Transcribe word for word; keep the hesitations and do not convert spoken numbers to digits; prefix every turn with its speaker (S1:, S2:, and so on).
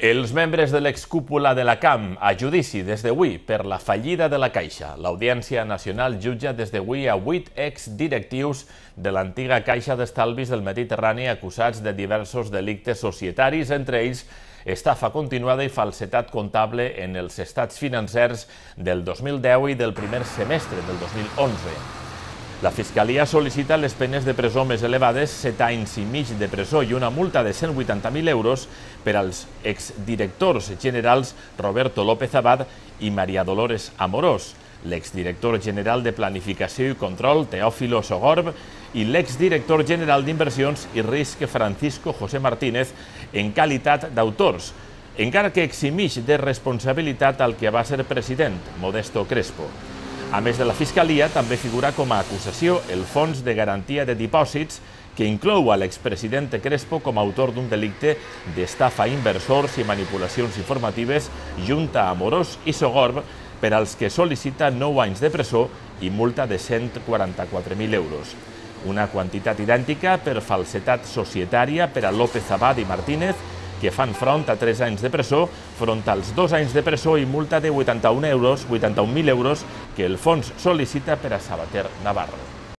S1: Els membres de l'excúpula de la C A M a judici des d'avui per la fallida de la Caixa. L'Audiència Nacional jutja des d'avui a vuit exdirectius de l'antiga Caixa d'Estalvis del Mediterrani acusats de diversos delictes societaris, entre ells estafa continuada i falsetat comptable en els estats financers del dos mil deu i del primer semestre del dos mil onze. La Fiscalia sol·licita les penes de presó més elevades, set anys i mig de presó i una multa de cent vuitanta mil euros per als exdirectors generals Roberto López Abad i María Dolores Amorós, l'exdirector general de Planificació i Control Teófilo Sogorb i l'exdirector general d'Inversions i Risc Francisco José Martínez en qualitat d'autors, encara que eximix de responsabilitat al que va ser president, Modesto Crespo. A més de la Fiscalia, també figura com a acusació el Fons de Garantia de Dipòsits, que inclou a l'expresident Crespo com a autor d'un delicte d'estafa a inversors i manipulacions informatives junt a Amorós i Sogorb, per als que sol·licita nou anys de presó i multa de cent quaranta-quatre mil euros. Una quantitat idèntica per falsetat societària per a López Abad i Martínez, que fan front a tres anys de presó, front als dos anys de presó i multa de vuitanta-un mil euros que el fons sol·licita per a Sabater Navarro.